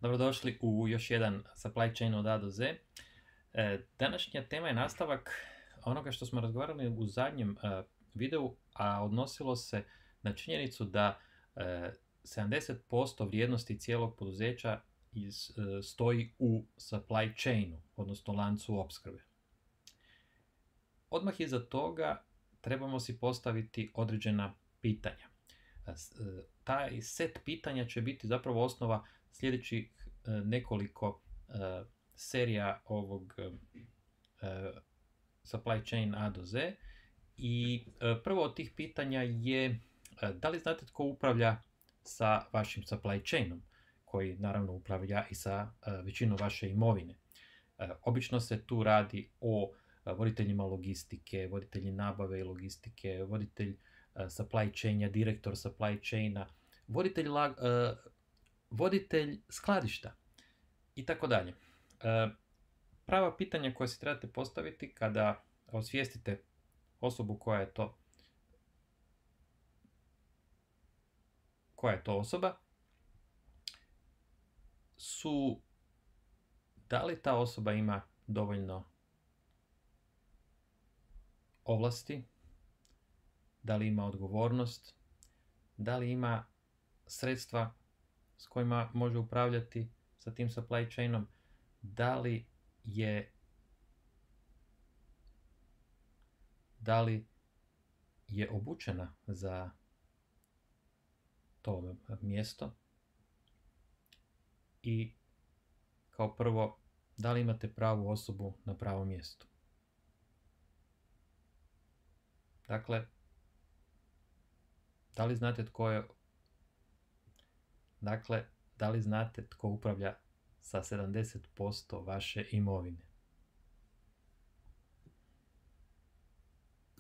Dobrodošli u još jedan supply chain od A do Z. Današnja tema je nastavak onoga što smo razgovarali u zadnjem videu, a odnosilo se na činjenicu da 70% vrijednosti cijelog poduzeća stoji u supply chainu, odnosno lancu opskrbe. Odmah iza toga trebamo si postaviti određena pitanja. Taj set pitanja će biti zapravo osnova sljedećih nekoliko serija ovog supply chain A do Z. I prvo od tih pitanja je da li znate tko upravlja sa vašim supply chainom, koji naravno upravlja i sa većinom vaše imovine. Obično se tu radi o voditeljima logistike, voditelji nabave i logistike, voditelj supply chaina, direktor supply chaina, voditelj skladišta i tako dalje. Prava pitanja koja si trebate postaviti kada osvijestite osobu koja je to osoba su da li ta osoba ima dovoljno ovlasti, da li ima odgovornost, da li ima sredstva s kojima može upravljati sa tim supply chainom, da li je obučena za to mjesto i kao prvo, da li imate pravu osobu na pravom mjestu. Dakle, da li znate tko upravlja sa 70% vaše imovine?